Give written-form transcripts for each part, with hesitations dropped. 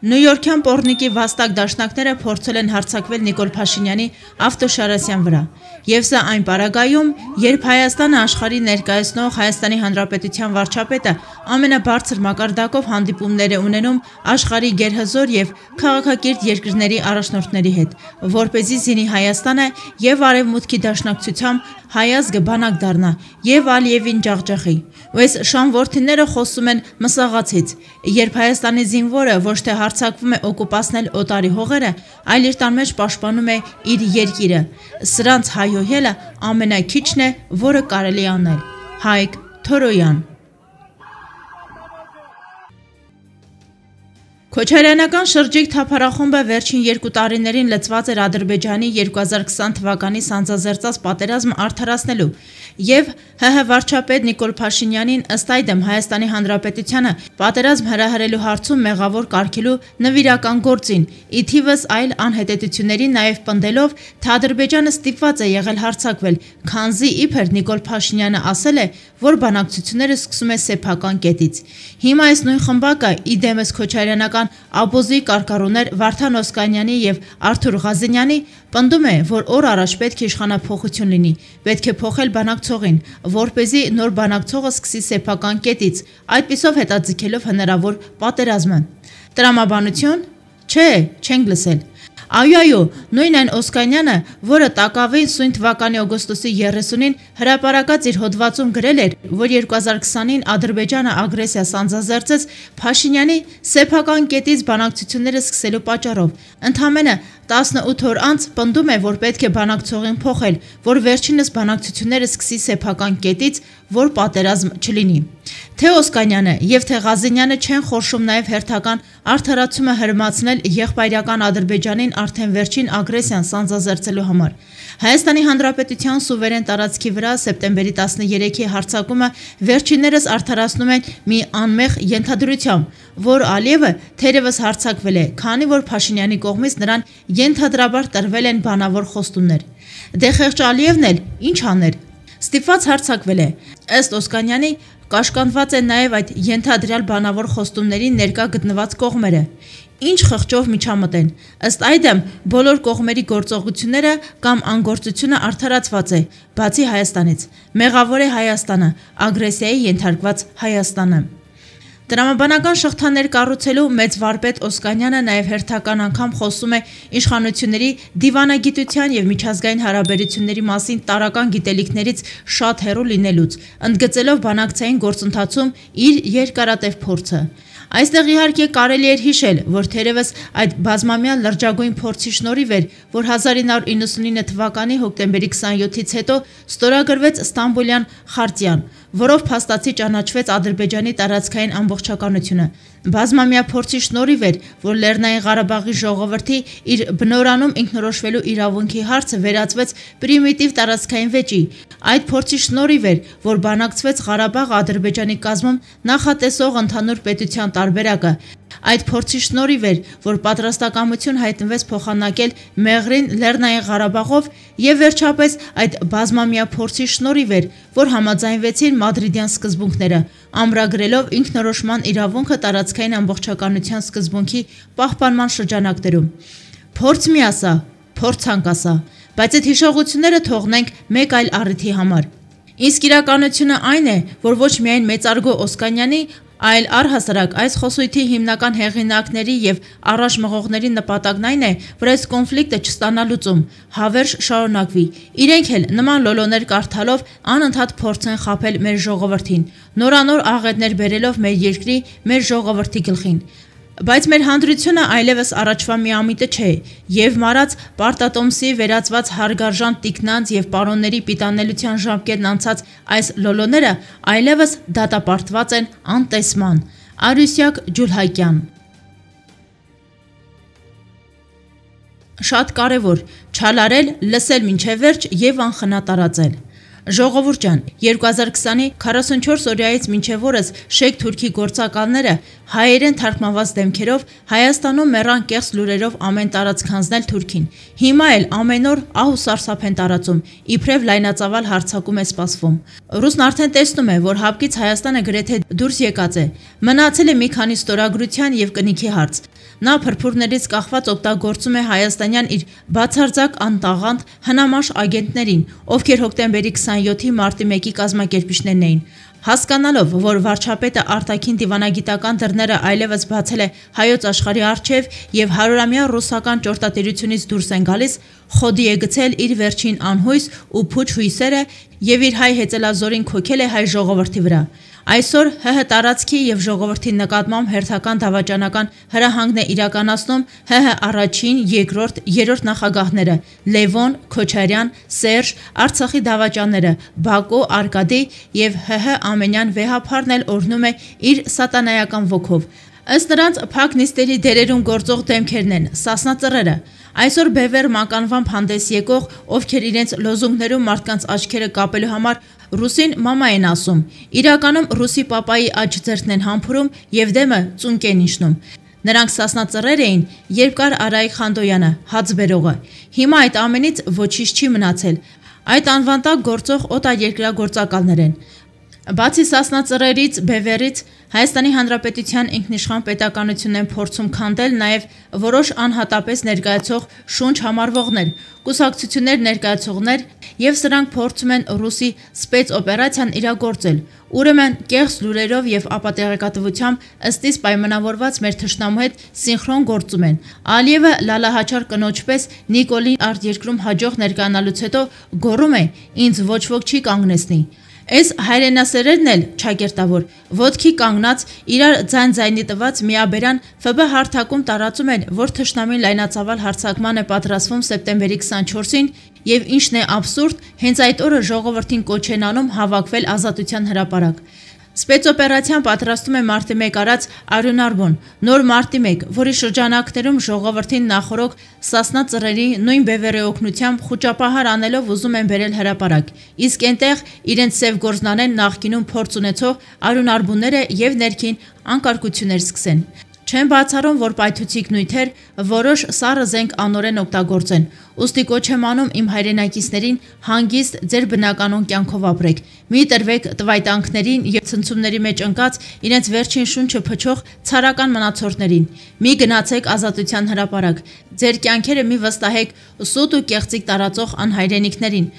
Նյույորքյան պոռնիկի վաստակ դաշնակները փորձել են հարձակվել Նիկոլ Փաշինյանի ավտոշարասյան վրա։ Եվ սա այն պարագայում, երբ Հայաստանը աշխարհի ներկայացնող Հայաստանի Հանրապետության վարչապետը ամենաբարձր մակարդակով հանդիպումներ է ունենում աշխարհի գերհզոր եւ քաղաքակիրթ երկրների առաջնորդների հետ, որպեսզի զինի Հայաստանը եւ Արևմուտքի դաշնակցությամբ հայազգը բանակ դառնա եւ Ալիևին ջախջախի։ Ու այս շան որդիները խոսում են մսաղացից, երբ Հայաստանի զինվորը ոչ թե հարձակվում է օկուպացնել օտարի հողերը, այլ իր տան մեջ պաշտպանում է իր երկիրը։ Սրանց հայհոյելը ամենաքիչն է, որը կարելի անել։ Հայկ Թորոյան։ Քոչարյանական շրջիկ թափառախումբը վերջին 2 տարիներին լծված էր Ադրբեջանի 2020 թվականի սանձազերծած պատերազմը արդարացնելու եւ ՀՀ վարչապետ Նիկոլ Փաշինյանին ըստ այդմ Հայաստանի Հանրապետությանը պատերազմ հրահրելու հարցում մեղավոր կարգելու նվիրական գործին, ի թիվս այլ անհետեթությունների նաեւ պնդելով, թե Ադրբեջանը ստիպված է եղել հարձակվել, քանզի իբր Նիկոլ Փաշինյանը ասել է, որ բանակցությունները սկսում է սեփական կետից։ Հիմա այս նույն խմբակը ի դեմս Քոչարյանական աբոզի կարկառուներ Վարդան Օսկանյանի եւ Արթուր Ղազենյանի պնդում է, որ օր առաջ պետք է իշխանափոխություն լինի, պետք է փոխել բանակցողին, որպեսզի նոր բանակցողը սկսի սեփական կետից, այդպիսով հետաձգելով հնարավոր պատերազմը։ Տրամաբանություն։ Չէ, չենք լսել։ Այո, նույն այն Օսկանյանը, որը տակավին սույն թվականի օգոստոսի 30-ին հրապարակած իր հոդվածում գրել էր, որ 2020-ին Ադրբեջանը ագրեսիա սանձազերծեց Փաշինյանի սեփական կետից բանակցությունները սկսելու պատճառով, ընդամենը 18 օր անց պնդում է, որ պետք է բանակցողին փոխել, որ վերջինս բանակցությունները սկսի սեփական կետից, որ պատերազմ չլինի։ Թե Օսկանյանը եւ թե Ղազենյանը չեն խորշում նաեւ հերթական արդարացումը հրմացնել եղբայրական Ադրբեջանին արդեն վերջին ագրեսիան սանձազերծելու համար։ Հայաստանի Հանրապետության սուվերեն տարածքի վրա սեպտեմբերի 13-ի հարձակումը վերջիններս արդարացնում են մի անմեղ ենթադրությամբ, որ Ալիևը թերևս հարձակվել է, քանի որ Փաշինյանի կողմից նրան ենթադրաբար տրվել են բանավոր խոստումներ։ Դե խեղճ Ալիևն էլ ինչ աներ։ Ստիպված հարձակվել է։ Ըստ Օսկանյանի կաշկանդված են նաև այդ ենթադրյալ բանավոր խոստումների ներկա գտնված կողմերը։ Ինչ խղճով միջամտեն։ Ըստ այդմ բոլոր կողմերի գործողությունները կամ անգործությունը արդարացված է, բացի Հայաստանից։ Մեղավոր է Հայաստանը, ագրեսիայի ենթարկված Հայաստանը։ Տրամաբանական շղթաներ կառուցելու մեծ վարպետ Օսկանյանը նաև հերթական անգամ խոսում է իշխանությունների դիվանագիտության եւ միջազգային հարաբերությունների մասին տարրական գիտելիքներից շատ հեռու լինելուց, ընդգծելով բանակցային գործընթացում իր երկարատև փորձը։ Այստեղ իհարկե կարելի էր հիշել, որ թերևս այդ բազմամյա լրջագույն փորձի շնորհիվ էր, որ 1999 թվականի հոկտեմբերի 27-ից հետո ստորագրվեց Ստամբուլյան խարտիան, որով փաստացի ճանաչվեց Ադրբեջանի տարածքային ամբողջականությունը։ Բազմամյա փորձի շնորհիվ էր, որ Լեռնային Ղարաբաղի ժողովրդի իր բնորանում ինքնորոշվելու իրավունքի հարցը վերածվեց պրիմիտիվ տարածքային վեճի։ Այդ փորձի շնորհիվ էր, որ բանակցվեց Ղարաբաղը Ադրբեջանի կազմում նախատեսող ընդհանուր պետության տարբերակը։ Այդ փորձի շնորհիվ էր, որ պատրաստակամություն հայտնվեց փոխանակել Մեղրին Լեռնային Ղարաբաղով եւ վերջապես այդ բազմամյա փորձի շնորհիվ էր, որ համաձայնվեցին Մադրիդյան սկզբունքները, ամրագրելով ինքնորոշման իրավունքը տարածքային ամբողջականության սկզբունքի պահպանման շրջանակներում։ Փորձ մի ասա, փորձանք ասա, բայց այդ հիշողությունները թողնենք մեկ այլ առիթի համար։ Իսկ իրականությունը այն է, որ ոչ միայն մեծարգո Օսկանյանի, այլ առհասարակ այս խոսույթի հիմնական հեղինակների եւ առաջ մղողների նպատակն այն է, որ այս կոնֆլիկտը չստանա լուծում, հավերժ շարունակվի։ Իրենք էլ նման լոլոներ կարդալով անընդհատ փորձեն խաբել մեր ժողովրդին, նորանոր աղետներ բերելով մեր երկրի, մեր ժողովրդի գլխին։ Բայց մեր հանդրությունը այլևս առաջվա միամիտը չէ, եւ մարած Պարտատոմսի վերածված հարգարժան տիկնանց եւ պարոնների պիտանելիության ժամկետն անցած այս լոլոները այլևս դատապարտված են անտեսման։ Արուսյակ Ջուլհակյան։ Շատ կարևոր չալարել, լսել մինչև վերջ եւ անխնա տարածել։ Ժողովուրդ ջան, 2020-ի 44 օրյայից մինչև օրս Շեյք Թուրքի գործակալները հայերեն թարգմանված դեմքերով Հայաստանում մեռան կեղծ լուրերով ամեն տարածք հանձնել Թուրքին։ Հիմա էլ ամեն օր ահ ու սարսափ են տարածում, իբրև լայնածավալ հարձակում է սպասվում։ Ռուսն արդեն տեսնում է, որ հապկից Հայաստանը գրեթե դուրս եկած է։ Մնացել է մի քանի ստորագրության եւ կնիքի հարց։ Նա փրփուրներից կախված օգտագործում է հայաստանյան իր բացարձակ անտաղանդ հնամաշ ագենտներին, ովքեր հոկտեմբերի 27-ի մարտի 1-ի կազմակերպիչներն էին։ Հասկանալով, որ վարչապետը արտաքին դիվանագիտական դռները այլևս բացել է հայոց աշխարհի առջև եւ 100-ամյա ռուսական ճորտատիրությունից դուրս են գալիս, խոդի է գցել իր վերջին անհույս ու փուչ հույսերը եւ իր հայ հեծելազորին քոքել է հայ ժողովրդի վրա։ Այսօր ՀՀ տարածքի եւ ժողովրդի նկատմամբ հերթական դավաճանական հրահանգն է իրականացնում ՀՀ առաջին, երկրորդ, երրորդ նախագահները՝ Լևոն, Քոչարյան, Սերժ, Արցախի դավաճանները՝ Բակո, Արկադի եւ ՀՀ ամենյան վեհափառն էլ օրհնում է իր սատանայական ոգով։ Ըստ նրանց փակ նիստերի դերերում գործող դեմքերն են սասնածռերը։ Այսօր բևեռ մականվամբ հանդես եկող, ովքեր իրենց լոզունգներում մարդկանց աչքերը կապելու համար ռուսին մամա են ասում, իրականում ռուսի պապայի աջ ձեռքն են համբուրում եւ դեմը ծունկ են իջնում։ Նրանք սասնածռեր էին, երբ կար Արայիկ Խանդոյանը, հաց բերողը։ Հիմա այդ ամենից ոչինչ չի մնացել։ Այդ անվան տակ գործող օտարերկրագործակալներ են։ Բացի սասնածռերից, բևեռից Հայաստանի Հանրապետության ինքնիշխան պետականությունն են փորձում քանդել նաև որոշ անհատապես ներկայացող շունչ համարվողներ, կուսակցություններ ներկայացողներ եւ սրանք փորձում են ռուսի սպեցօպերացիան իրագործել։ Ուրեմն կեղծ լուրերով եւ ապատեղեկատվությամբ ըստիս պայմանավորված մեր թշնամու հետ սինխրոն գործում են։ Ալիևը լալահաչար կնոջպես Նիկոլին արտերկրում հաջող ներկայանալուց հետո գոռում է. «Ինձ ոչ ոք չի կանգնեցնի»։ Այս հայրենասերերն էլ չակերտավոր, ոտքի կանգնած, իրար ձայն-ձայնի տված միաբերան ՖԲ հարթակում տարածում են, որ թշնամին լայնածավալ հարձակման է պատրաստվում սեպտեմբերի 24-ին եւ ինչն է աբսուրդ, հենց այդ օրը ժողովրդին կոչ են անում հավաքվել Ազատության հրապարակ։ Սպեցօպերացիան պատրաստում է մարտի 1 արած Արյուն Արբոն, նոր մարտի 1, որի շրջանակներում ժողովրդին նախորոք սասնածռերի նույն բևեռի օգնությամբ խուճապահար անելով ուզում են բերել հրապարակ, իսկ այնտեղ իրենց սև գործնանեն նախկինում փորձ ունեցող Արյուն Արբունները եւ ներքին անկարգություններ սկսեն։ Չեն բացառում, որ պայթուցիկ նյութեր որոշ սառը զենք անօրեն օգտագործեն։ Ուստի կոչ եմ անում իմ հայրենակիցներին հանգիստ ձեր բնականոն կյանքով ապրեք։ Մի տրվեք տվայտանքներին եւ ցնցումների մեջ ընկած իրենց վերջին շունչը փչող ցարական մնացորդներին։ Մի գնացեք Ազատության հրապարակ։ Ձեր կյանքերը մի վստահեք սուտ ու կեղծիկ տարածող անհայրենիքներին,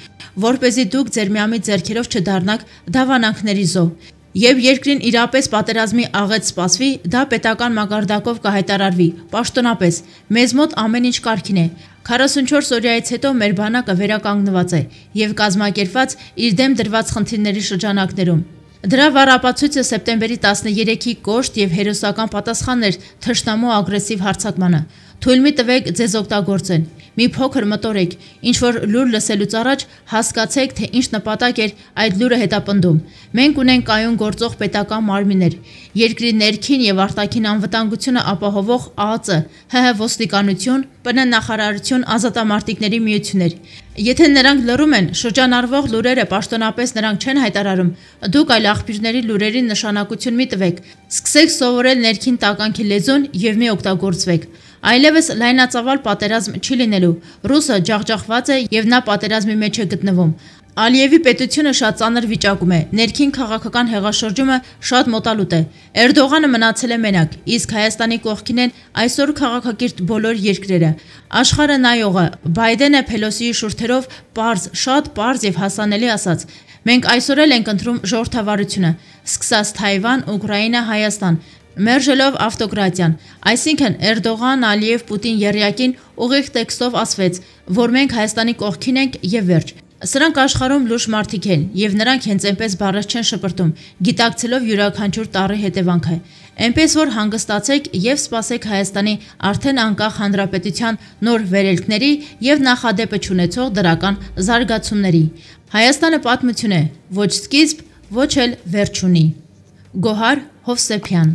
որպեսզի դուք ձեր միամիտ ձեռքերով չդառնաք դավանանքների զոհ։ Եվ երկրին իրապես պատերազմի աղետ սպասվի, դա պետական մակարդակով կհայտարարվի, պաշտոնապես, մեզ մոտ ամեն ինչ կարգին է։ 44 օրյայից հետո մեր բանակը վերականգնված է եւ կազմակերպված իր դեմ դրված խնդիրների շրջանակներում։ Դրա վառապացույցը սեպտեմբերի 13-ի կոշտ եւ հերոսական պատասխանն էր թշնամու ագրեսիվ հարձակմանը։ Թույլ մի տվեք ձեզ օգտագործեն։ Մի փոքր մտորեք, ինչ որ լուր լսելուց առաջ հասկացեք, թե ինչ նպատակ էր այդ լուրը հետապնդում։ Մենք ունենք կայուն գործող պետական մարմիններ, երկրի ներքին եւ արտաքին անվտանգությունը ապահովող ԱԱԾ, ՀՀ ոստիկանություն, ՊՆ նախարարություն, ազատամարտիկների միություններ։ Եթե նրանք լռում են, շրջանառվող լուրերը պաշտոնապես նրանք չեն հայտարարում, դուք այլ աղբյուրների լուրերի նշանակություն մի տվեք, սկսեք սովորել ներքին տականքի լեզուն եւ մի օգտագործվեք։ Այլևս լայնածավալ պատերազմ չի լինելու, ռուսը ջախջախված է եւ նա պատերազմի մեջ է գտնվում։ Ալիևի պետությունը շատ ծանր վիճակում է, ներքին քաղաքական հեղաշրջումը շատ մոտալուտ է։ Էրդողանը մնացել է մենակ, իսկ Հայաստանի կողքին են այսօր քաղաքակիրթ բոլոր երկրերը։ Աշխարհը նայողը, Բայդենը Փելոսիի շուրթերով պարզ, շատ պարզ եւ հասանելի ասաց. մենք այսօր էլ ենք ընտրում ժողովրդավարությունը, սկսած Թայվան, Ուկրաինա, Հայաստան, մերժելով ավտոկրատիան, այսինքն Էրդողան, Ալիև, Պուտին եռյակին ուղիղ տեքստով ասվեց, որ մենք Հայաստանի կողքին ենք եւ վերջ։ Սրանք աշխարհում լուրջ մարդիկ են եւ նրանք հենց այնպես բառեր չեն շպրտում, գիտակցելով յուրաքանչյուր տառի հետևանքը։ Այնպես որ հանգստացեք եւ սպասեք Հայաստանի արդեն անկախ հանրապետության նոր վերելքների եւ նախադեպը չունեցող դրական զարգացումների։ Հայաստանը պատմություն է, ոչ սկիզբ, ոչ էլ վերջ ունի։ Գոհար Հովսեփյան